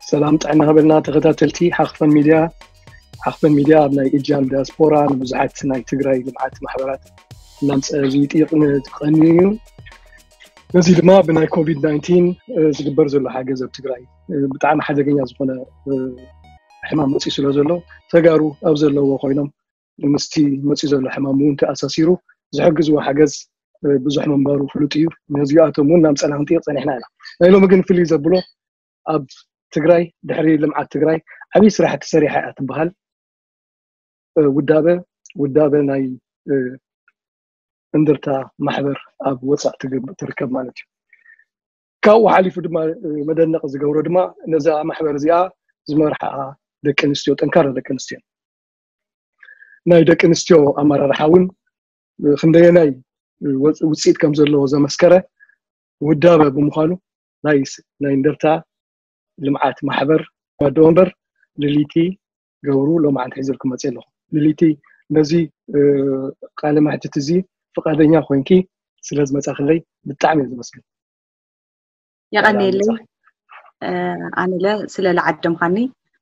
ሰላም ጥዕና ሃበልና ተኸታተልቲ ሓኽፈን ሚድያ። ሓኽፈን ሚድያ ኣብ ናይ እጃም ዲያስፖራ ንብዙሓት ናይ ትግራይ ልምዓት ማሕበራት እናምፀ ዝይጥይቕ ንትቐኒ እዩ። ነዚ ድማ ብናይ ኮቪድ ናይንቲን ዝግበር ዘሎ ሓገዝ ኣብ ትግራይ ብጣዕሚ ሓደገኛ ዝኾነ ሕማም መፅኡ ስለ ዘሎ፣ ተጋሩ ኣብ ዘለዎ ኮይኖም ምስቲ መፅኡ ዘሎ ሕማም እውን ተኣሳሲሩ ዝሕግዝዎ ሓገዝ ብዙሕ ምንባሩ ፍሉጥ እዩ። ነዚኣቶም እውን እናምፀና ክንጥይቕ ፀኒሕና ኢና። ናይ ሎሚ ግን ፍልይ ዘብሎ ኣብ ትግራይ ድሕሪ ልምዓት ትግራይ ዓብዪ ስራሕቲ ሰሪሓ እያ ትበሃል ውዳበ ውዳበ ናይ እንደርታ ማሕበር ኣብ ወፃእ ትርከብ ማለት እዩ። ካብኡ ሓሊፉ ድማ መደነቕ ዝገብሮ ድማ ነዛ ማሕበር እዚኣ ዝመርሓኣ ደቂ ኣንስትዮ፣ ጠንካራ ደቂ ኣንስትዮ፣ ናይ ደቂ ኣንስትዮ ኣመራርሓ እውን ክንደየናይ ውፅኢት ከም ዘለዎ ዘመስከረ ውዳበ ብምዃኑ ናይ እንደርታ ልምዓት ማሕበር ባዶ ወንበር ልልይቲ ገብሩ ሎማዓንቲ ሒዘልኩም መፅእ ኣለኹ። ልልይቲ፣ ነዚ ቃለ መሕትት እዚ ፍቓደኛ ኮይንኪ ስለ ዝመፃኽለይ ብጣዕሚ እየ ዘመስግን። የቐንየለይ። ኣነለ ስለ ለዓደምኻኒ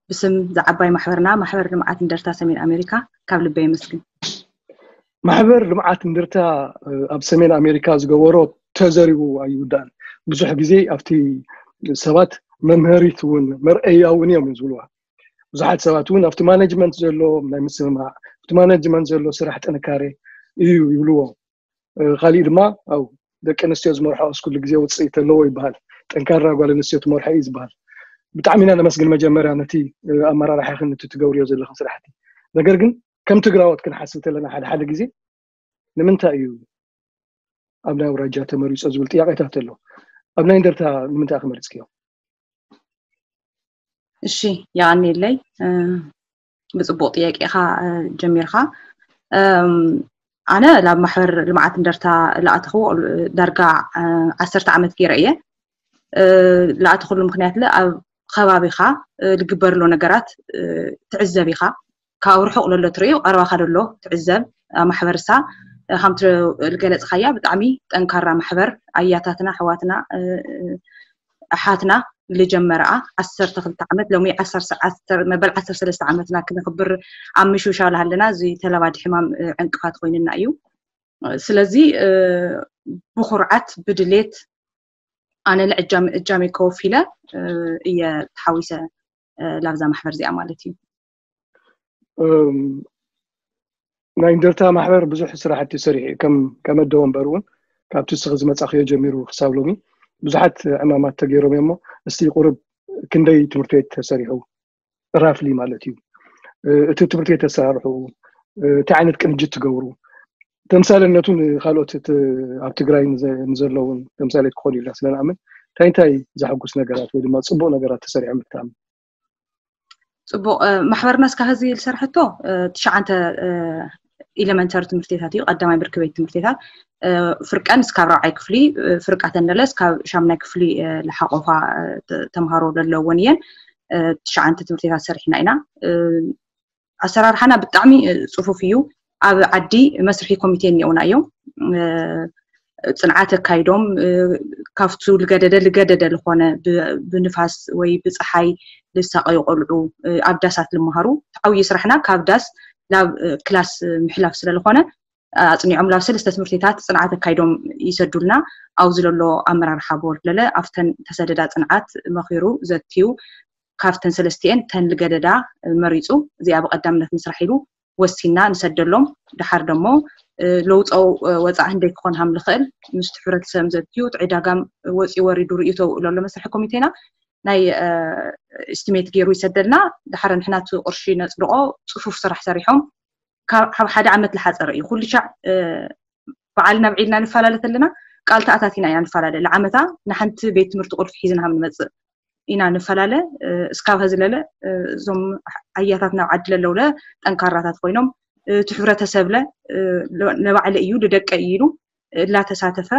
ብስም ዝዓባይ ማሕበርና ማሕበር ልምዓት እንደርታ ሰሜን ኣሜሪካ ካብ ልበይ የመስግን። ማሕበር ልምዓት እንደርታ ኣብ ሰሜን ኣሜሪካ ዝገበሮ ተዘሪቡ ኣይውዳእን። ብዙሕ ግዜ ኣብቲ ሰባት መምሃሪት እውን መርአያ እውን እዮም ዝብልዋ። ብዙሓት ሰባት እውን ኣብቲ ማኔጅመንት ዘሎ ናይ ምስምማዕ ኣብቲ ማኔጅመንት ዘሎ ስራሕ ጥንካሬ እዩ ይብልዎ። ካሊእ ድማ ኣብ ደቂ ኣንስትዮ ዝመርሖ ኣስኩሉ ግዜ ውፅኢት ኣለዎ ይበሃል። ጠንካራ ጓል ኣንስትዮ ትመርሖ እዩ ዝበሃል። ብጣዕሚ ኢና ነመስግን መጀመርያ ነቲ ኣመራርሓ ይኹን ነቲ ትገብርዮ ዘለኽን ስራሕቲ። ነገር ግን ከም ትግራዎት ክንሓስብ ተለና ሓደ ሓደ ግዜ ንምንታይ እዩ ኣብ ናይ ኣውራጃ ተመሪፆ ዝብል ጥያቄታት ኣሎ። ኣብ ናይ እንደርታ ንምንታይ ክመርፅክዮ? እሺ፣ የቐንየለይ። ብፅቡቕ ጥያቄኻ ጀሚርካ። ኣነ ናብ ማሕበር ልምዓት እንደርታ ለኣተኽዎ ዳርጋ ዓሰርተ ዓመት ገይረ እየ። ለኣተኽሉ ምክንያት ለ ኣብ ከባቢኻ ልግበር ኣሎ ነገራት ትዕዘብ ኢኻ። ካብ ርሑቕ ለሎ ትርእዩ ቀረባኻ ደሎ ትዕዘብ። ማሕበርሳ ከምቲ ዝገለፅካያ ብጣዕሚ ጠንካራ ማሕበር ኣያታትና ኣሕዋትና ኣሓትና ልጀመረኣ ዓሰርተ ክልተ ዓመት ሎሚ መበል ዓሰርተ ሰለስተ ዓመትና ክነኽብር ኣብ ምሽውሻው ኣለና። እዚ ተላባዲ ሕማም ዕንቅፋት ኮይንና እዩ። ስለዚ ብኩርዓት ብድሌት ኣነ ንእጃመይ ከወፊለ እየ ተሓዊሰ ላብዛ ማሕበር እዚኣ ማለት እዩ። ናይ እንደርታ ማሕበር ብዙሕ ስራሕቲ ሰሪሑ እዩ። ከም ኣደ ወንበር እውን ካብቲ እስኺ ዝመፃኽዮ ጀሚሩ ክሳብ ሎሚ ብዙሓት ዕማማት ተገይሮም እዮም። እሞ እስቲ ቁርብ ክንደይ ትምህርቲ ቤት ተሰሪሑ ራፍሊ ማለት እዩ፣ እቲ ትምህርቲ ቤት ተሰራርሑ፣ እንታይ ዓይነት ቅንጅት ትገብሩ፣ ተምሳሌነቱ ንካልኦት ኣብ ትግራይ ንዘለውን ተምሳሌት ክኾኑ ኢልና ስለንኣምን እንታይ እንታይ ዘሐጉስ ነገራት ወይ ድማ ፅቡቕ ነገራት ተሰሪሖም ብትኣምን? ፅቡቕ። ማሕበርና እስካ ህዚ ዝሰርሐቶ ትሽዓንተ ኢለመንተሪ ትምህርቲታት እዩ፣ ቀዳማይ ብርኪ ቤት ትምህርቲታት። ፍርቀን እስካብ ራብዓይ ክፍሊ፣ ፍርቃተን ደለ እስካብ ሻምናይ ክፍሊ ለሓቆፋ ተምሃሮ ዘለወን እየን። ትሽዓንተ ትምህርቲታት ሰሪሕና ኢና። ኣሰራርሓና ብጣዕሚ ፅፉፍ እዩ። ኣብ ዓዲ መስርሒ ኮሚቴ እኒኦና እዮም። ፅንዓት ኣካይዶም ካብቱ ልገደደ ልገደደ ልኾነ ብንፋስ ወይ ብፀሓይ ልሳቀዩ ቆልዑ ኣብ ዳሳት ልመሃሩ። ተዓውዩ ስራሕና ካብ ዳስ ናብ ክላስ ምሕላፍ ስለልኾነ ኣፅኒዖም ላብ ሰለስተ ትምህርቲታት ፅንዓት ኣካይዶም ይሰዱልና። ኣብዚ ለሎ ኣመራርሓ ቦርድ ለለ ኣብተን ተሰደዳ ፅንዓት መኺሩ ዘትዩ ካብተን ሰለስቲኤን ተን ልገደዳ መሪፁ እዚኣ ብቀዳምነት ምስራሕ ኢሉ ወሲና ንሰደሎም። ድሓር ደሞ ለውፀው ወፃእ ህንደይ ክኾን ሃም ልኽእል ምስቲ ሕብረተሰብ ዘትዩ እቲ ዕዳጋም ወፂኡ ወሪዱ ርእዩ ተውእሎ ኣሎ መስርሒ ኮሚቴና ናይ ኤስቲሜት ገይሩ ይሰደልና። ድሓር ንሕና እቲ ቅርሺ ነፅድቆ ፅፉፍ ስራሕ ሰሪሖም ካብ ሓደ ዓመት ዝሓፀረ እዩ። ኩሉ ሻዕ በዓል ናብ ዒድና ንፈላለ ተለና ቃል ተኣታቲና ኢና ንፈላለ። ለዓመታ ንሓንቲ ቤት ትምህርቲ ቁልፊ ሒዝና ሃም ንመፅእ ኢና ንፈላለ። እስካብ ሀዚ ለለ እዞም ኣያታት ናብ ዓዲ ለለውለ ጠንካራታት ኮይኖም እቲ ሕብረተሰብለ ለባዕለ እዩ ልደቀ እዩ ኢሉ እላተሳተፈ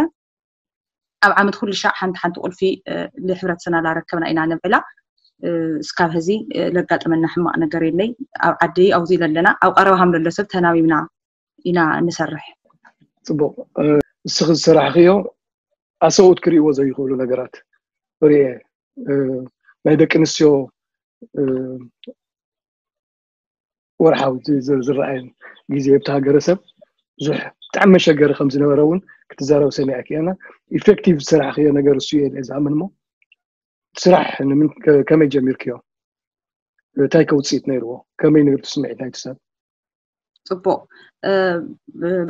ኣብ ዓመት ኩሉ ሻዕ ሓንቲ ሓንቲ ቁልፊ ልሕብረተሰና ላረከብና ኢና ነብዕላ። እስካብ ሀዚ ለጋጠመና ሕማቕ ነገር የለይ። ኣብ ዓዲ ኣብዚ ለለና ኣብ ቀረባ ሃም ለሎ ሰብ ተናቢብና ኢና ንሰርሕ። ፅቡቕ። እስኺ ዝሰራሕኽዮ ኣሰብኡት ክርእይዎ ዘይኽእሉ ነገራት ርእየ። ናይ ደቂ ኣንስትዮ ወርሓዊ ዝረኣየ ግዜ ኣብቲ ሃገረሰብ ብዙሕ ብጣዕሚ መሸገሪ ከም ዝነበረ እውን ክትዛረብ ሰሚዐ ክእና። ኢፌክቲቭ ዝሰራሕክዮ ነገር እሱ እየ ዝኣምን። እሞ ስራሕ ከመይ ጀሚርክዮ? እንታይ ከውፅኢት ነይርዎ? ከመይ ነይሩ ስምዒት ናይቲ ሰብ? ፅቡቅ።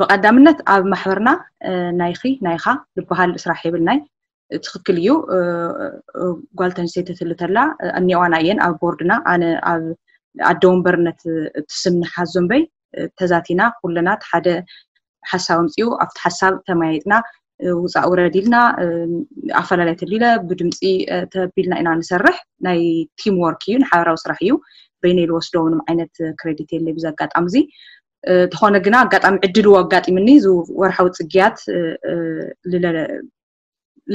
ብቀዳምነት ኣብ ማሕበርና ናይኺ ናይኻ ዝበሃል ስራሕ የብልናይ። ትኽክል እዩ። ጓል ተንስተይቲ ትልተላ እኒዋና እየን ኣብ ቦርድና። ኣነ ኣብ ኣደ ወንበርነት ትስምኒ ሓዞምበይ ተዛቲና ኩለና ሓደ ሓሳብ ኣምፅኡ ኣብቲ ሓሳብ ተመያይጥና ውፃእ ውረድ ኢልና ኣፈላላይ ተሊለ ብድምፂ ተቢልና ኢና ንሰርሕ። ናይ ቲም ወርክ እዩ፣ ንሓበራዊ ስራሕ እዩ። በይነይ ልወስዶ ምንም ዓይነት ክሬዲት የለይ ብዚ ኣጋጣሚ እዚ። ተኾነ ግና ኣጋጣሚ ዕድል ኣጋጢምኒ እዚ ወርሓዊ ፅግያት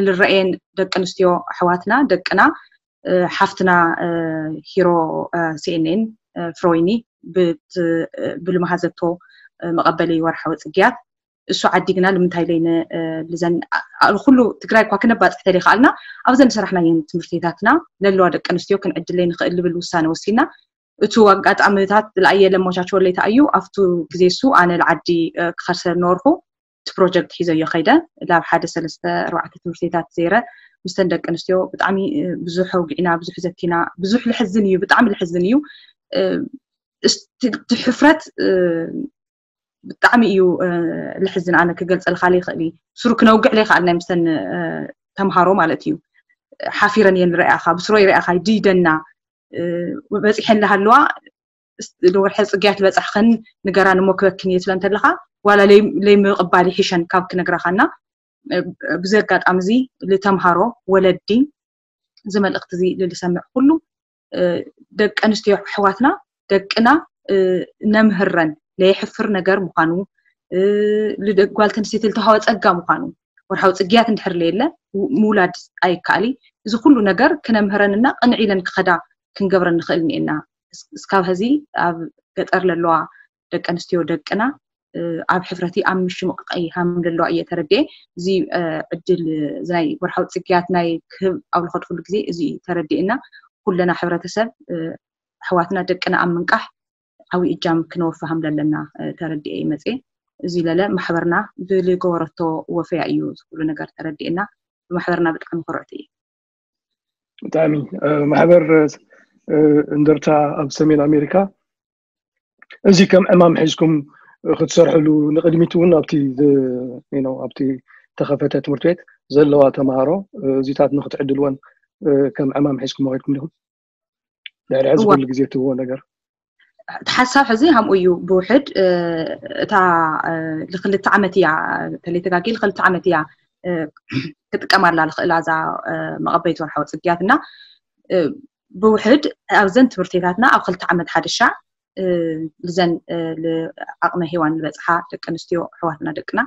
ልረኤን ደቂ ኣንስትዮ ኣሕዋትና ደቅና ሓፍትና ሂሮ ሲኤንኤን ፍሮይኒ ብልመሃዘቶ መቐበሊ ወርሓዊ ፅግያት እሱ ዓዲግና ንምንታይ ለይነ ልዘን ኩሉ ትግራይ እኳ ክነባፅሕ ተለይከኣልና ኣብዘን ሰራሕናየን ትምህርትታትና ለለዋ ደቂ ኣንስትዮ ክንዕድለይ ንኽእል ልብል ውሳነ ወሲና። እቱ ኣጋጣሚታት ለኣየ ለመቻቸወለይ ተኣዩ ኣብቱ ግዜ እሱ ኣነ ልዓዲ ክኸርሰ ነበርኩ። እቲ ፕሮጀክት ሒዘዮ ከይደ ላብ ሓደ ሰለስተ ኣርባዕተ ትምህርትታት ዘይረ ምስተን ደቂ ኣንስትዮ ብጣዕሚ ብዙሕ ኣውጊዕና ብዙሕ ዘቲና ብዙሕ ልሕዝን እዩ ብጣዕሚ ልሕዝን እዩ። እቲ ሕፍረት ብጣዕሚ እዩ ልሕዝን ኣነ ክገልፀልካ ይኽእል እዩ። ስሩ ክነውግዕ ለይከኣልና ምስተን ተምሃሮ ማለት እዩ። ሓፊረን እየን ርኣኻ ብስሮ ይርኣኻ ድይደና በፂሐን ለሃለዋ ወርሐ ፅግያት በፃሕኽን ንገራን እሞ ክበክን እየ ትብለን ተለኻ ዋላ ለይምቕባል ይሕሸን ካብ ክነግራኻና። ብዚ ኣጋጣሚ እዚ ልተምሃሮ ወለዲ እዚ መልእክቲ እዚ ልልሰምዕ ኩሉ ደቂ ኣንስትዮ ኣሕዋትና ደቅና ነምህረን ለየሕፍር ነገር ምዃኑ ጓል ተንስተይቲ ልተዋሃበ ፀጋ ምዃኑ ወርሓዊ ፅግያት እንድሕር ለየለ ምውላድ ኣይከኣል። እዚ ኩሉ ነገር ክነምህረንና ቅንዕ ኢለን ክኸዳ ክንገብረን ንኽእል እኒኤና። እስካብ ሀዚ ኣብ ገጠር ለለዋ ደቂ ኣንስትዮ ደቅና ኣብ ሕፍረቲ ኣብ ምሽምቕቐይ ሃም ለለዋ እየ ተረድኤ። እዚ ዕድል ናይ ወርሓዊ ፅግያት ናይ ክህብ ኣብ ልኸድኩሉ ግዜ እዚ ተረድኤና ኩለና ሕብረተሰብ ኣሕዋትና ደቅና ኣብ ምንቃሕ ዓብዪ እጃም ክነወፍሃም ለለና ተረድኤ ይመፅኤ። እዚ ለለ ማሕበርና ብልገበረቶ ወፈያ እዩ ዝኩሉ ነገር ተረድኤና። ብማሕበርና ብጣዕሚ ኩርዕቲ እዩ። ብጣዕሚ ማሕበር እንደርታ ኣብ ሰሜን ኣሜሪካ እዚ ከም ዕማም ሒዝኩም ክትሰርሕሉ ንቅድሚት እውን ኣብቲ ኣብቲ ተኸፈተ ትምህርቲ ቤት ዘለዋ ተምሃሮ እዚታት ንክትዕድልወን ከም ዕማም ሒዝኩም መኸድኩም ዲኹም? ድሕሪ ሕዚ ኩሉ ግዜ ትብዎ ነገር እቲ ሓሳብ ሕዚ ሃምኡ እዩ ብውሕድ እታ ልክልተ ዓመት እያ ተለይተጋጊ ልክልተ ዓመት እያ ክጥቀማላ ልክእላ እዛ መቐበይቲ ወርሓዊ ፅግያት እና ብውሕድ ኣብዘን ትምህርትታትና ኣብ ክልተ ዓመት ሓደሻ ልዘን ዓቕመ ሄዋን ዝበፅሓ ደቂ ኣንስትዮ ኣሕዋትና ደቅና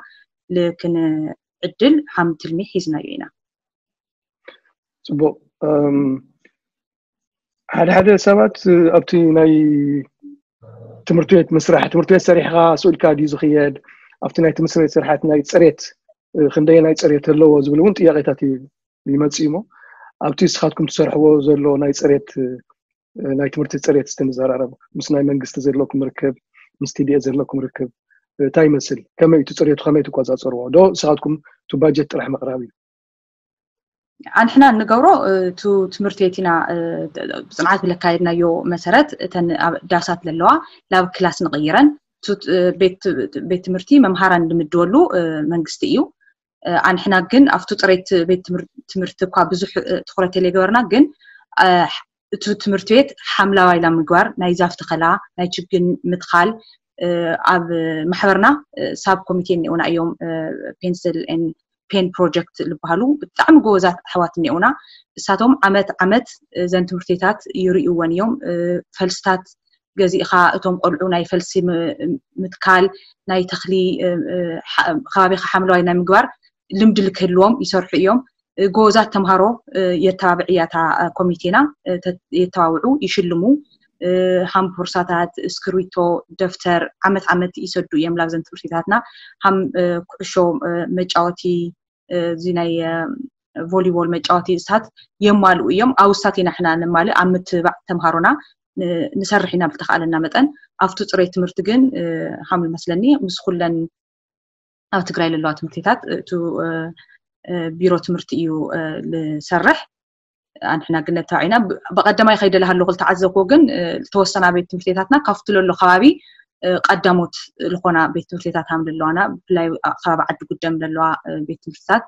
ልክንዕድል ሃም ትልሚ ሒዝናዮ ኢና። ፅቡቅ። ሓደ ሓደ ሰባት ኣብቲ ናይ ትምህርቲ ቤት ምስራሕ ትምህርቲ ቤት ሰሪሕካ ስኡልካ ድዩ ዝኽየድ ኣብቲ ናይ ትምህርቲ ቤት ስርሓት ናይ ፅሬት ክንደየ ናይ ፅሬት ኣለዎ ዝብል እውን ጥያቄታት ይመፅእ እሞ ኣብቲ ንስኻትኩም ትሰርሕዎ ዘሎ ናይ ፅሬት ናይ ትምህርቲ ፅሬት ዝተመዘራረቡ ምስ ናይ መንግስቲ ዘለኩም ርክብ ምስ ቲዲኤ ዘለኩም ርክብ እንታይ ይመስል? ከመይ እቲ ፅሬቱ ከመይ ትቆፃፀርዎ? ዶ ንስኻትኩም እቲ ባጀት ጥራሕ ምቕራብ እዩ? ኣንሕና እንገብሮ ቱ ትምህርቲ ቤት ኢና ብፅንዓት ብለካየድናዮ መሰረት እተን ዳሳት ለለዋ ናብ ክላስ ንቕይረን ቤት ትምህርቲ መምሃራን ንምድወሉ መንግስቲ እዩ። ኣንሕና ግን ኣብቱ ፅሬት ቤት ትምህርቲ እኳ ብዙሕ ትኩረት የለይገበርና ግን እቲ ትምህርቲ ቤት ሓምላዋይ ላ ምግባር ናይ ዛፍ ተኸላ ናይ ችግን ምትኻል ኣብ ማሕበርና ሳብ ኮሚቴ እኒኦና እዮም ፔንስል ፔን ፕሮጀክት ዝበሃሉ ብጣዕሚ ጎበዛት ኣሕዋት እኒኦና። እሳቶም ዓመት ዓመት እዘን ትምህርትታት ይርእይወን እዮም። ፈልስታት ገዚእኻ እቶም ቆልዑ ናይ ፈልሲ ምትካል ናይ ተኽሊ ከባቢኻ ሓምለዋይ ናይ ምግባር ልምዲ ልክህልዎም ይሰርሑ እዮም። ጎበዛት ተምሃሮ የተባብዕ እያ እታ ኮሚቴና። የተባብዑ ይሽልሙ። ሃምፖርሳታት፣ እስክሪብቶ፣ ደፍተር ዓመት ዓመት ይሰዱ እዮም ላብዘን ትምህርትታትና ሃም ኩዕሾ መጫወቲ እዚ ናይ ቮሊቦል መጫወቲ እሳት የማልኡ እዮም። ኣብ እሳት ኢና ሕና ነማልእ ኣብ ምትባዕ ተምሃሮና ንሰርሕ ኢና ብተኻእለና መጠን። ኣብቲ ፅሬት ትምህርቲ ግን ከም መስለኒ ምስ ኩለን ኣብ ትግራይ ዘለዋ ትምህርትታት እቲ ቢሮ ትምህርቲ እዩ ዝሰርሕ። ኣንሕና ግን ነታዊዕና ብቀደማይ ከይደለ ሃለኹ ዝተዓዘብኩ ግን ዝተወሰና ቤት ትምህርትታትና ካብቲ ለሎ ከባቢ ቀዳሞት ዝኾና ቤት ትምህርትታት ሃም ዘለዋና ብፍላይ ከባቢ ዓዲ ጉደም ዘለዋ ቤት ትምህርትታት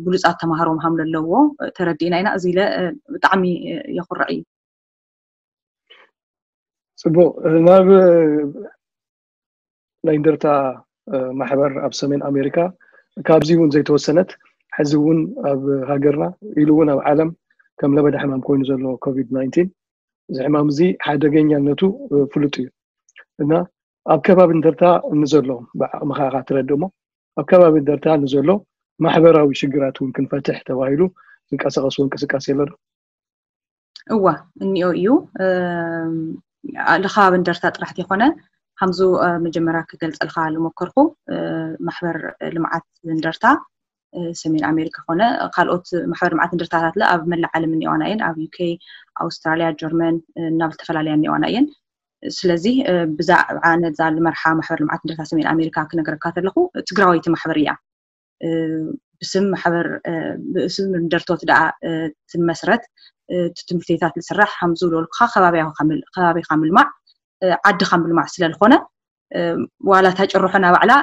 ብሉፃት ተምሃሮ ምሃም ዘለዎ ተረዲእና ኢና። እዚ ኢለ ብጣዕሚ የኩርዕ እዩ። ፅቡቅ ናብ ናይ እንደርታ ማሕበር ኣብ ሰሜን ኣሜሪካ ካብዚ እውን ዘይተወሰነት ሕዚ እውን ኣብ ሃገርና ኢሉ እውን ኣብ ዓለም ከም ለበዳ ሕማም ኮይኑ ዘሎ ኮቪድ ናይንቲን እዚ ሕማም እዚ ሓደገኛነቱ ፍሉጥ እዩ እና ኣብ ከባቢ እንደርታ ንዘሎ ብዓቕምኻ ኢኻ ትረድእ እሞ ኣብ ከባቢ እንደርታ ንዘሎ ማሕበራዊ ሽግራት እውን ክንፈትሕ ተባሂሉ ዝንቀሳቀስዎ እንቅስቃሴ ኣሎ ዶ? እዋ እኒኦ እዩ። ልከባቢ እንደርታ ጥራሕ ዘይኮነ ከምዙ መጀመርያ ክገልፀልካ ዝሞከርኩ ማሕበር ልምዓት እንደርታ ሰሜን ኣሜሪካ ኮነ ካልኦት ማሕበር ልምዓት እንደርታታት ኣብ መላእ ዓለም እኒኦና እየን። ኣብ ዩኬ፣ ኣውስትራሊያ፣ ጀርመን ናብ ዝተፈላለያ እኒኦና እየን። ስለዚ ብዛዕባ ነዛ ልመርሓ ማሕበር ልምዓት እንደርታ ሰሜን ኣሜሪካ ክነገረካ ተለኹ ትግራወይቲ ማሕበር እያ። ብስም ማሕበር ብስም እንደርቶት ደኣ ትመስረት ትምህርትታት ዝስራሕ ከም ዝብለልኩኻ ከባቢኻ ምልማዕ ዓድኻ ምልማዕ ስለዝኾነ ዋላ እታ ጭርሖ ናባዕላ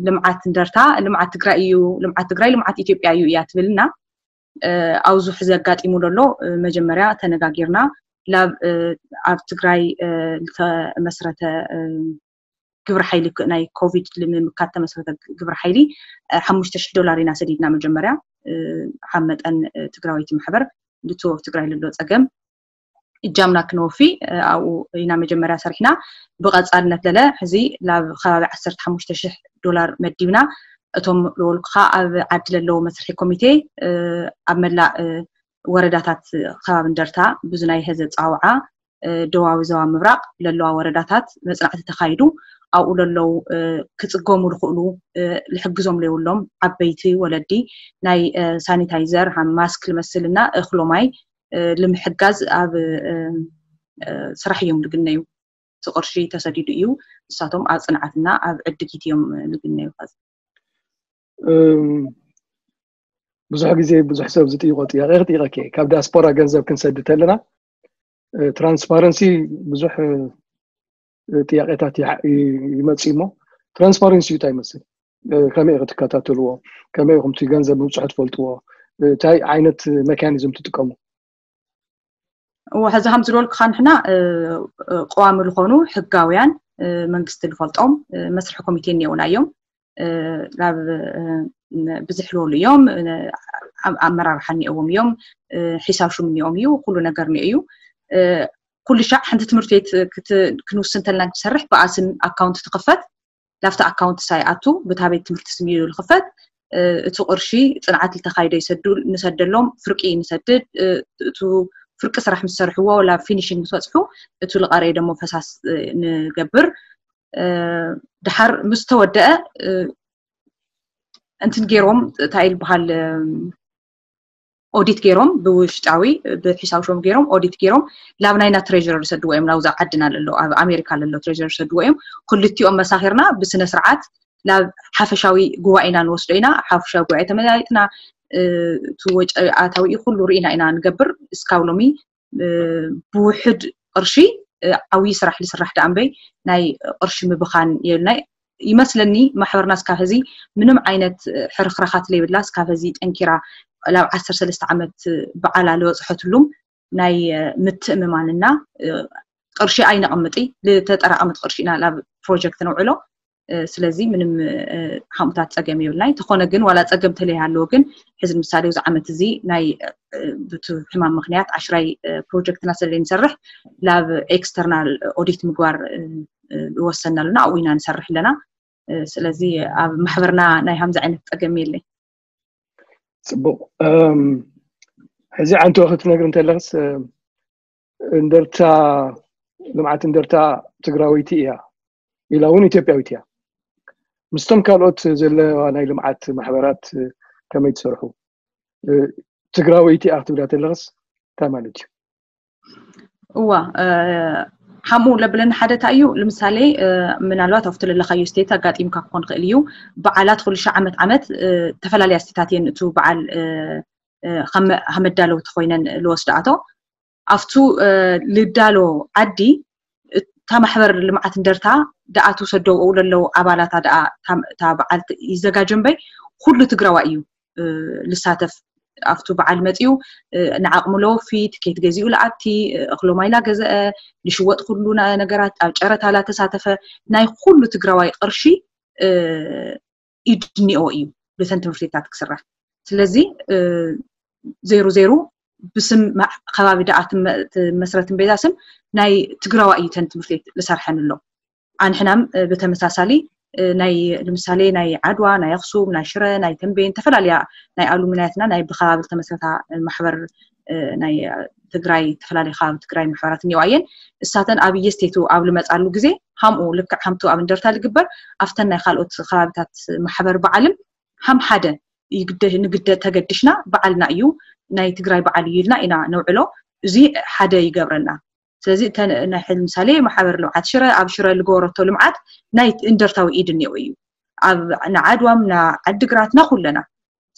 ልምዓት እንደርታ ልምዓት ትግራይ እዩ ልምዓት ትግራይ ልምዓት ኢትዮጵያ እዩ እያ ትብልና ኣብዚ ሕዚ ኣጋጢሙ ዘሎ መጀመርያ ተነጋጊርና ላብ ኣብ ትግራይ ዝተመስረተ ግብረ ሓይሊ ናይ ኮቪድ ንምምካት ተመስረተ ግብረ ሓይሊ ሓሙሽተ ሽሕ ዶላር ኢና ሰዲድና መጀመርያ ሓብ መጠን ትግራወይቲ ማሕበር ልትወ ትግራይ ልሎ ፀገም እጃምና ክንወፊ ኣብኡ ኢና መጀመርያ ሰሪሕና ብቐፃልነት ለለ ሕዚ ላብ ከባቢ ዓሰርተ ሓሙሽተ ሽሕ ዶላር መዲብና እቶም ልወልኩኻ ኣብ ዓዲ ለለዉ መስርሒ ኮሚቴ ኣብ መላእ ወረዳታት ከባቢ እንደርታ ብዙ ናይ ህዘ ፃውዓ ደቡባዊ ዞባ ምብራቕ ለለዋ ወረዳታት መፅናዕቲ ተኻይዱ ኣብኡ ለለዉ ክፅገሙ ዝኽእሉ ዝሕግዞም ለይብሎም ዓበይቲ ወለዲ ናይ ሳኒታይዘር ማስክ ዝመስልና እኽሎ ማይ ንምሕጋዝ ኣብ ስራሕ እዮም ዝግነዩ። እቲ ቅርሺ ተሰዲዱ እዩ። ንሳቶም ኣብ ፅንዓትና ኣብ ዕድጊት እዮም ዝግነዩ። ብዙሕ ግዜ ብዙሕ ሰብ ዝጥይቆ ጥያቄ ክጥይቀኪ ካብ ዲያስፖራ ገንዘብ ክንሰድድ ተለና ትራንስፓረንሲ ብዙሕ ጥያቄታት ይመፅእ እሞ ትራንስፓረንሲ እንታይ ይመስል? ከመይ ክትከታተልዎ? ከመይ ኢኹም እቲ ገንዘብ ምብፅሑ ትፈልጥዎ? እንታይ ዓይነት ሜካኒዝም ትጥቀሙ? እዎ ሕዚ ከም ዝበልኩኻ ንሕና ቀዋሚ ዝኾኑ ሕጋውያን መንግስቲ ዝፈልጦም መስርሒ ኮሚቴ እኒኦና እዮም። ናብ ብዝሕ ዝበሉ እዮም ኣመራርሓ እኒኦዎም እዮም ሒሳብ ሹም እኒኦም እዩ ኩሉ ነገር እኒኦ እዩ ኩሉ ሻዕ ሓንቲ ትምህርቲ ቤት ክንውስን ተልና ክሰርሕ ብኣስም ኣካውንት ትኽፈት ላፍቲ ኣካውንት ሳይኣቱ ብታ ቤት ትምህርቲ ስም እዩ ዝኽፈት እቲ ቅርሺ ፅንዓት ዝተካይዶ ይሰዱ ንሰደሎም ፍርቂ ንሰድድ እቱ ፍርቂ ስራሕ ምስ ሰርሕዎ ላብ ፊኒሽንግ ምስ በፅሑ እቱ ልቀረይ ደሞ ፈሳስ ንገብር ድሓር ምስ ተወደአ እንትን ገይሮም እንታይ ይበሃል ኦዲት ገይሮም ብውሽጣዊ ብሒሳብ ሾም ገይሮም ኦዲት ገይሮም ላብ ናይና ትሬዥረር ዝሰድዎ እዮም ናብዛ ዓድና ለሎ ኣብ ኣሜሪካ ለሎ ትሬዥረር ዝሰድዎ እዮም ክልቲኦም መሳኺርና ብስነ ስርዓት ናብ ሓፈሻዊ ጉባኤና ንወስዶ ኢና ሓፈሻዊ ጉባኤ ተመያይጥና እቲ ወጪ ኣታዊ ኩሉ ርኢና ኢና ንገብር እስካብ ሎሚ ብውሕድ ቅርሺ ዓብዪ ስራሕ ዝስራሕ ደኣ እምበይ ናይ ቅርሺ ምብኻን የብልናይ ይመስለኒ ማሕበርና እስካብ ሕዚ ምንም ዓይነት ሕርኽራኻት ለይብላ እስካብ ሕዚ ጠንኪራ ላብ ዓሰርተ ሰለስተ ዓመት በዓላ ለበፅሐትሉም ናይ ምትእምማንና ቅርሺ ኣይነቐምጢ ልተጠራቐመት ቅርሺ ኢና ላብ ፕሮጀክት ነውዕሎ ስለዚ ምንም ሓሙታት ፀገም የብልናይ ተኾነ ግን ዋላ ፀገም ተለይ ኣለዎ ግን ሕዚ ንምሳሌ እዚ ዓመት እዚ ናይ ብቲ ሕማም ምክንያት ዓሽራይ ፕሮጀክትና ስለ ንሰርሕ ላብ ኤክስተርናል ኦዲት ምግባር ዝወሰና ኣለና ኣብኡ ኢና ንሰርሕ ኣለና ስለዚ ኣብ ማሕበርና ናይ ሃምዚ ዓይነት ፀገም የለይ ፅቡቅ ሕዚ ዓንተ ክትነግር እንተለክስ እንደርታ ልምዓት እንደርታ ትግራወይቲ እያ ኢላ እውን ኢትዮጵያዊት እያ ምስቶም ካልኦት ዘለዋ ናይ ልምዓት ማሕበራት ከመይ ትሰርሑ ትግራወይቲ ኢኻ ክትብላ ተለኽስ እንታይ ማለት እዩ? እዋ፣ ሓምኡ ለብለኒ ሓደ እንታይ እዩ? ንምሳሌ ምናልባት ኣብቲ ለለኻዮ ስቴት ኣጋጢምካ ክኾን ክእል እዩ። በዓላት ኩሉ ሻዕ ዓመት ዓመት ተፈላለያ ስቴታት እየን እቱ በዓል ከመዳለውቲ ኮይነን ልወስዳኣቶ። ኣብቱ ልዳሎ ዓዲ እታ ማሕበር ልምዓት እንደርታ ደኣ ትውሰደው ለለው ኣባላታ ደኣ እታ በዓል ይዘጋጀ እምበይ ኩሉ ትግራዋ እዩ ልሳተፍ። ኣብቱ በዓል መፂኡ ንዓቕሙ ለወፊ ትኬት ገዚኡ ለኣቲ እኽሎ ማይላ ገዘአ ልሽወጥ ኩሉ ነገራት ኣብ ጨረታ ላተሳተፈ ናይ ኩሉ ትግራዋይ ቅርሺ ኢድ እኒኦ እዩ ብተን ትምህርቲታት ክስራሕ። ስለዚ ዜሩ ዜሩ ብስም ከባቢ ደኣ ትመስረት እምበዛ ስም ናይ ትግራዋ እዩ ተን ትምህርቲት ልሰርሐን ኣሎ። ኣንሕናም ብተመሳሳሊ ናይ ንምሳሌ ናይ ዓድዋ ናይ ኣክሱም ናይ ሽረ ናይ ተንቤን ተፈላለያ ናይ ኣሉሚናያትና ናይ ብከባቢ ዝተመስረታ ማሕበር ናይ ትግራይ ዝተፈላለዩ ከባቢ ትግራይ ማሕበራት እኒዋ እየን። እሳተን ኣብ እየስቴቱ ኣብ ልመፃሉ ግዜ ሃምኡ ልክዕ ሃምቱ ኣብ እንደርታ ልግበር ኣብተን ናይ ካልኦት ከባቢታት ማሕበር በዓልም ሃም ሓደ ንግደ ተገድሽና በዓልና እዩ ናይ ትግራይ በዓል እዩ ኢልና ኢና ነውዕሎ። እዚ ሓደ ይገብረና። ስለዚ ናይ ሕል ምሳሌ ማሕበር ልምዓት ሽረ ኣብ ሽረ ልገበረቶ ልምዓት ናይ እንደርታዊ ኢድ እኒኦ እዩ ኣብ ንዓድዋም ንዓድግራት ናኩለና።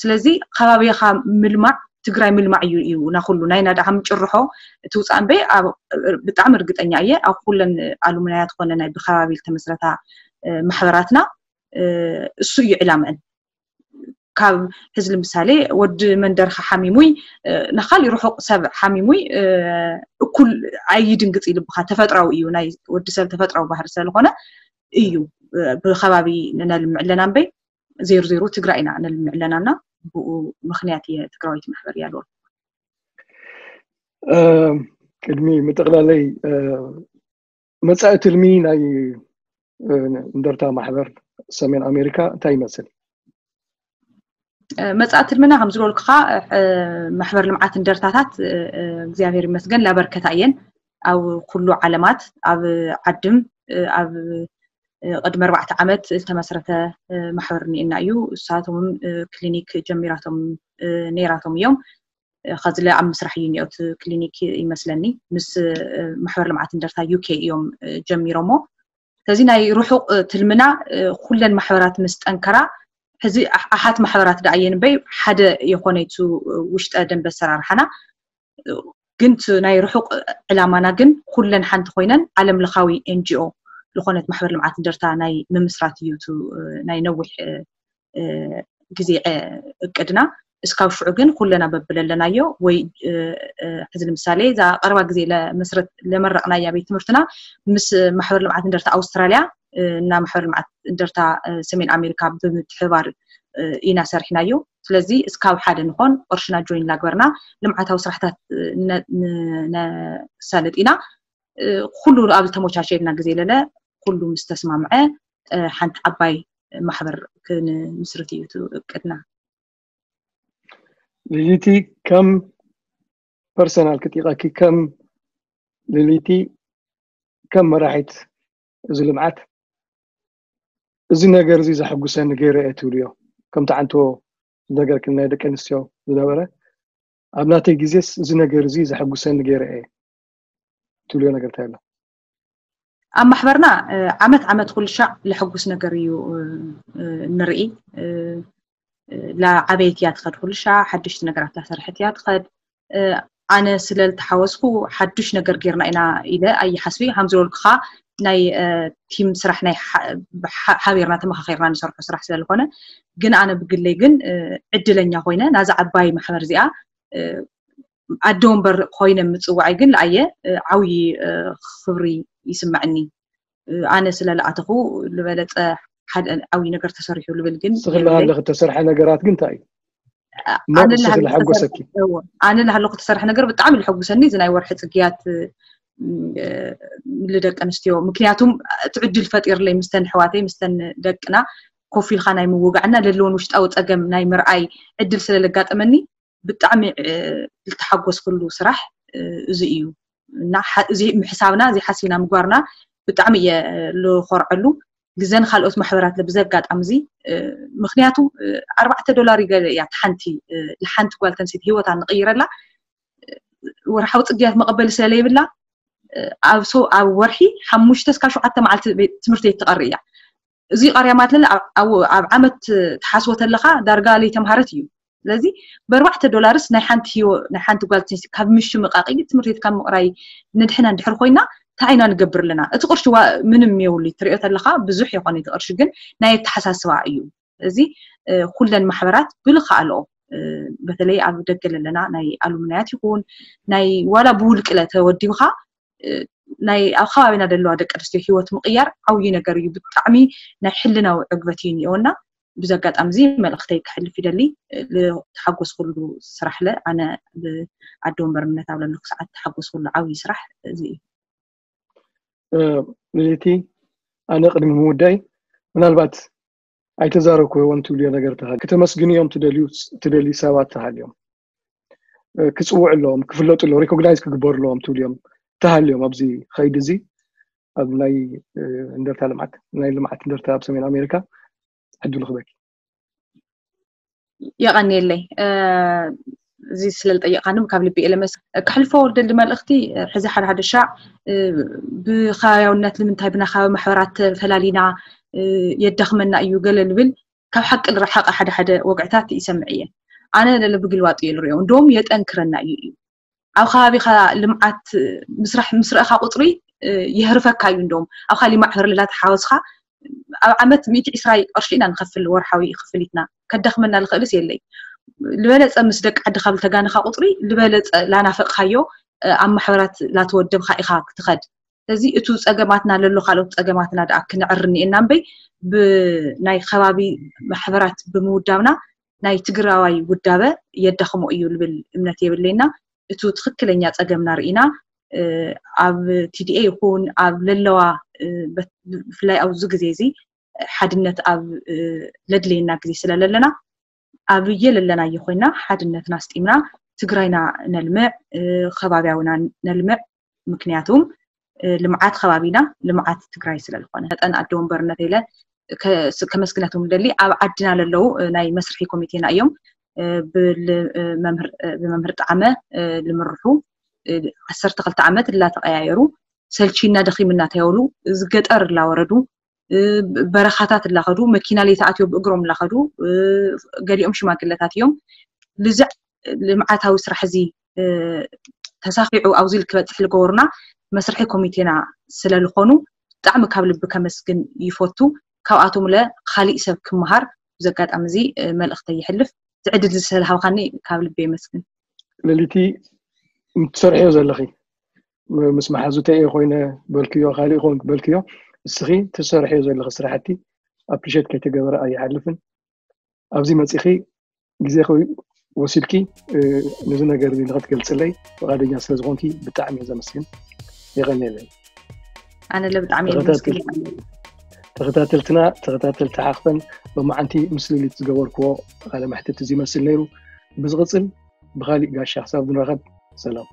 ስለዚ ከባቢኻ ምልማዕ ትግራይ ምልማዕ እዩ እዩ ናኩሉ ናይ ናዳሃም ጭርሖ ትውፃእ እምበይ ብጣዕሚ እርግጠኛ እየ ኣብ ኩለን ኣሉምናያት ኮነ ናይ ብከባቢ ዝተመስረታ ማሕበራትና እሱ እዩ ዕላምአን። ካብ ሕዚ ንምሳሌ ወዲ መንደርካ ሓሚሙይ ንካሊእ ርሑቕ ሰብ ሓሚሙይ እኩል ኣይድንግፅ ይልብካ ተፈጥራዊ እዩ ናይ ወዲ ሰብ ተፈጥራዊ ባህሪ ስለዝኮነ እዩ ብከባቢ ነልምዕ ኣለና እምበይ ዜሩ ዜሩ ትግራይ ኢና ነልምዕ ኣለና እና ብኡ ምክንያት እየ ትግራዊት ማሕበር እያ ዝበልኩ። ቅድሚ ምጥቕላለይ መፃኢ ትልሚ ናይ እንደርታ ማሕበር ሰሜን ኣሜሪካ እንታይ ይመስል? መፃኢ ትልምና ከም ዝበልኩኻ ማሕበር ልምዓት እንደርታታት እግዚኣብሔር ይመስገን ላበርከታ እየን ኣብ ኩሉ ዓለማት ኣብ ዓድም ኣብ ቅድሚ ኣርባዕተ ዓመት ዝተመስረተ ማሕበር እኒኤና እዩ። እሳቶም ክሊኒክ ጀሚራቶም ነይራቶም እዮም። ከዚ ኣብ ምስራሕ እዩ እኒኦ እቲ ክሊኒክ ይመስለኒ ምስ ማሕበር ልምዓት እንደርታ ዩኬ እዮም ጀሚሮሞ። ስለዚ ናይ ርሑቕ ትልምና ኩለን ማሕበራት ምስ ጠንከራ ሕዚ ኣሓት ማሕበራት ደኣ እየን እምበይ ሓደ የኾነ እቲ ውሽጠ ደንበ ኣሰራርሓና ግን ናይ ርሑቕ ዕላማና ግን ኩለን ሓንቲ ኮይነን ዓለም ለኻዊ ኤንጂኦ ዝኾነት ማሕበር ልምዓት እንደርታ ናይ ምምስራት እዩ ናይ ነዊሕ ግዜ እቅድና። እስካብ ሽዑ ግን ኩለና በብለለናዮ ወይ ሕዚ ንምሳሌ እዛ ቀረባ ግዜ ለመስረት ለመረቕናያ ቤት ትምህርትና ምስ ማሕበር ልምዓት እንደርታ ኣውስትራልያ እና ማሕበር ልምዓት እንደርታ ሰሜን ኣሜሪካ ብምትሕባር ኢና ሰርሕናዮ። ስለዚ እስካብ ሓደ ንኾን ቅርሽና ጆይን ላግበርና ልምዓታዊ ስራሕታት ነሳልጥ ኢና። ኩሉ ኣብ ዝተሞቻቸልና ግዜ ለለ ኩሉ ምስ ተስማምዐ ሓንቲ ዓባይ ማሕበር ክንምስርት እዩ እቅድና። ልሊቲ ከም ፐርሰናል ክጢቐኪ ከም ልሊቲ ከም መራሒት እዚ ልምዓት እዚ ነገር እዚ ዘሐጉሰኒ ገይረ እየ ትብልዮ ከምቲ ዓንቶ ዝነገርክን ናይ ደቂ ኣንስትዮ ዝነበረ ኣብ ናተይ ግዜስ እዚ ነገር እዚ ዘሐጉሰኒ ገይረ እየ ትብልዮ ነገር እንታይ ኣሎ? ኣብ ማሕበርና ዓመት ዓመት ኩሉ ሻዕ ለሐጉስ ነገር እዩ ንርኢ። ላዓበየት እያ ትኸድ ኩሉ ሻዕ ሓድሽቲ ነገራት ላሰርሐት እያ ትኸድ። ኣነ ስለ ልተሓወስኩ ሓዱሽ ነገር ጌርና ኢና ኢለ ኣይሓስቢ ሃም ዝበልኩኻ ናይ ቲም ስራሕ ናይ ሓቢርና ተመኻኺርና ንሰርሖ ስራሕ ስለዝኮነ ግን ኣነ ብግለይ ግን ዕድለኛ ኮይነ ናዛ ዓባይ ማሕበር እዚኣ ኣደ ወንበር ኮይነ ምፅዋዐይ ግን ለኣየ ዓብዪ ክብሪ ይስምዐኒ። ኣነ ስለ ለኣተኹ ዝበለፀ ሓደ ዓብዪ ነገር ተሰሪሑ ልብል ግን ስኽላ ኣለክ ተሰርሐ ነገራት ግን እንታይ እዩ? ኣነ ለሃለኩ ተሰርሐ ነገር ብጣዕሚ ልሐጉሰኒ እዚ ናይ ወርሒ ፅግያት ንደቂ ኣንስትዮ ምክንያቱም እቲ ዕድል ፈጢርለይ ምስተን ኣሕዋተይ ምስተን ደቅና ኮፍ ኢልካ ናይ ምውጋዕና ለለውን ውሽጣዊ ፀገም ናይ ምርኣይ ዕድል ስለለጋጠመኒ ብጣዕሚ ልተሓጎስኩሉ ስራሕ እዚ እዩ እና እዚ ምሕሳብና እዚ ሓሲብና ምግባርና ብጣዕሚ እየ ልኮርዐሉ። ግዘን ካልኦት ማሕበራት ብዘጋጣሚ እዚ ምክንያቱ ኣርባዕተ ዶላር ይገለ እያ ሓንቲ ሓንቲ ጓል ተንሴት ህይወታ ንቕይረላ ወርሓዊ ፅግያት መቐበሊ ስለለይብላ ኣብ ኣብ ወርሒ ሓሙሽተ እስካ ሸውዓተ መዓልቲ ትምህርቲ ቤት ትቐሪ እያ። እዚ ቀርያ ማለት ኣብ ዓመት ትሓስቦ ተለካ ዳርጋ ለይተምሃረት እዩ። ስለዚ ብኣርባዕተ ዶላርስ ናይ ሓንቲ ህይወ ናይ ሓንቲ ጓል ተንስቲ ካብ ምሽምቃቂ ትምህርቲ ቤት ካብ ምቕራይ ንድሕና እንድሕር ኮይና እንታይ ኢና ንገብር ኣለና? እቲ ቅርሺ ምንም የብሉ ትሪኦ ተለካ ብዙሕ የኾነ እቲ ቅርሺ ግን ናይ ኣተሓሳስባ እዩ። እዚ ኩለን ማሕበራት ብልክኣልኦ በተለይ ኣብ ደገ ለለና ናይ ኣሉምናያት ይኹን ናይ ዋላ ብውልቅለ ተወዲብካ ናይ ኣብ ከባቢና ዘለዋ ደቂ ኣንስትዮ ህይወት ምቕያር ዓብዪ ነገር እዩ። ብጣዕሚ ናይ ሕልናዊ ዕግበት እዩ እኒኦና። ብዚ ኣጋጣሚ እዚ መልእኽተይ ክሕልፍ ይደሊ። ተሓጎስኩሉ ስራሕ ለ ኣነ ብኣደ ወንበርነት ኣብ ለለኩ ሰዓት ተሓጎስኩሉ ዓብዪ ስራሕ እዚ እዩ። ልልቲ ኣነ ቅድሚ ምውዳይ ምናልባት ኣይተዛረብክዎን ትብልዮ ነገር ተሃልዩ ክተመስግንዮም ትደልዩ ትደልዩ ሰባት ተሃልዮም ክፅውዕ ኣለዎም ክፍለጡ ኣለዎም ሪኮግናይዝ ክግበሩ ኣለዎም ትብልዮም ተሃልዮም ኣብዚ ከይዲ እዚ ኣብ ናይ እንደርታ ልምዓት ናይ ልምዓት እንደርታ ኣብ ሰሜን ኣሜሪካ ዕድሉ ክበኪ የቐንየለይ እዚ ስለ ዝጠየቕካኒ ካብ ልቢ እየ ለመስ ክሕልፎ ደሊ መልእኽቲ ሕዚ ሓደ ሓደ ሻዕ ብኸባቢያውነት ንምንታይ ብናኻባቢ ማሕበራት ተፈላሊና የዳኽመና እዩ ገለ ልብል ካብ ሓቂ ዝረሓቐ ሓደ ሓደ ወግዕታት ይሰምዕ እየ ኣነ ለለ ብግልባጡ እየ ዝሪኦ እንደውም የጠንክረና እዩ እዩ ኣብ ከባቢኻ ልምዓት ምስራሕ ምስ ረእኻ ቁፅሪ የህርፈካ እዩ እንደውም ኣብ ካሊእ ማሕበር ልላ ተሓወስኻ ኣብ ዓመት ሚእቲ ዕስራ ቅርሺ ኢና ንኸፍል ወርሓዊ ክፍሊትና ከዳኽመና ዝኽእልስ የለይ ዝበለፀ ምስ ደቂ ዓዲ ካብ ዝተጋንኻ ቁፅሪ ዝበለፀ ላናፈቕኻዮ ኣብ ማሕበራት ላተወደብካ ኢኻ ክትኸድ ስለዚ እቱ ፀገማትና ለሎ ካልኦት ፀገማትና ደኣ ክንዕር እኒኤና እምበይ ብናይ ከባቢ ማሕበራት ብምውዳብና ናይ ትግራዋይ ውዳበ የዳኽሞ እዩ ልብል እምነት የብለይና እቱ ትኽክለኛ ፀገምና ርኢና ኣብ ቲዲኤ ይኹን ኣብ ለለዋ ብፍላይ ኣብዚ ግዜ እዚ ሓድነት ኣብ ለድለየና ግዜ ስለለለና ኣብ የለለናዮ ኮይና ሓድነትና ኣስጢምና ትግራይና ነልምዕ ከባቢያዊና ነልምዕ ምክንያቱም ልምዓት ከባቢና ልምዓት ትግራይ ስለዝኾነ መጠን ኣደ ወንበርነት ኢለ ከመስግነቶም ደሊ ኣብ ዓድና ለለዉ ናይ መስርሒ ኮሚቴና እዮም ብመምህር ጣዕመ ልምርሑ ዓሰርተ ክልተ ዓመት እላተቀያየሩ ሰልቺና ደኺምና ተየብሉ እዚ ገጠር እላወረዱ በረኻታት እላኸዱ መኪና ለይተኣትዮ ብእግሮም እላኸዱ ገሊኦም ሽማግለታት እዮም ልዝዕ ልምዓታዊ ስራሕ እዚ ተሳኺዑ ኣብዚ ክበፅሕ ዝገበሩና መስርሒ ኮሚቴና ስለዝኾኑ ብጣዕሚ ካብ ልቢ ከመስግን ይፈቱ ካብኣቶም ለ ካሊእ ሰብ ክመሃር ብዚ ኣጋጣሚ እዚ መልእኽተይ ይሕልፍ እዚ ዕድል እዚ ስለዝሃብካኒ ካብ ልቢ የመስግን ለሊቲ ትሰርሕዮ ዘለኺ ምስ መሓዙተይ እየ ኮይነ በልክዮ ካሊእ ኮን በልክዮ እስኺ ትሰርሕዮ ዘለኺ ስራሕቲ ኣፕሪሼት ከይተገበረ ኣይሓልፍን ኣብዚ መፂኺ ግዜ ወሲድኪ ነዚ ነገር እዚ ንክትገልፅለይ ፍቃደኛ ስለዝኮንኪ ብጣዕሚ እየ ዘመስግን የቀንየለይ ኣነ ለ ብጣዕሚ እየ ዘመስግን ተኸታተልትና ተኸታተልቲ ሓኽፈን ሎማዓንቲ ምስ ልሊት ዝገበርክዎ ቃለ መሕትት እዚ ይመስል ነይሩ ብዝቕፅል ብካሊእ ጋሻ ክሳብ ንራኸብ ሰላም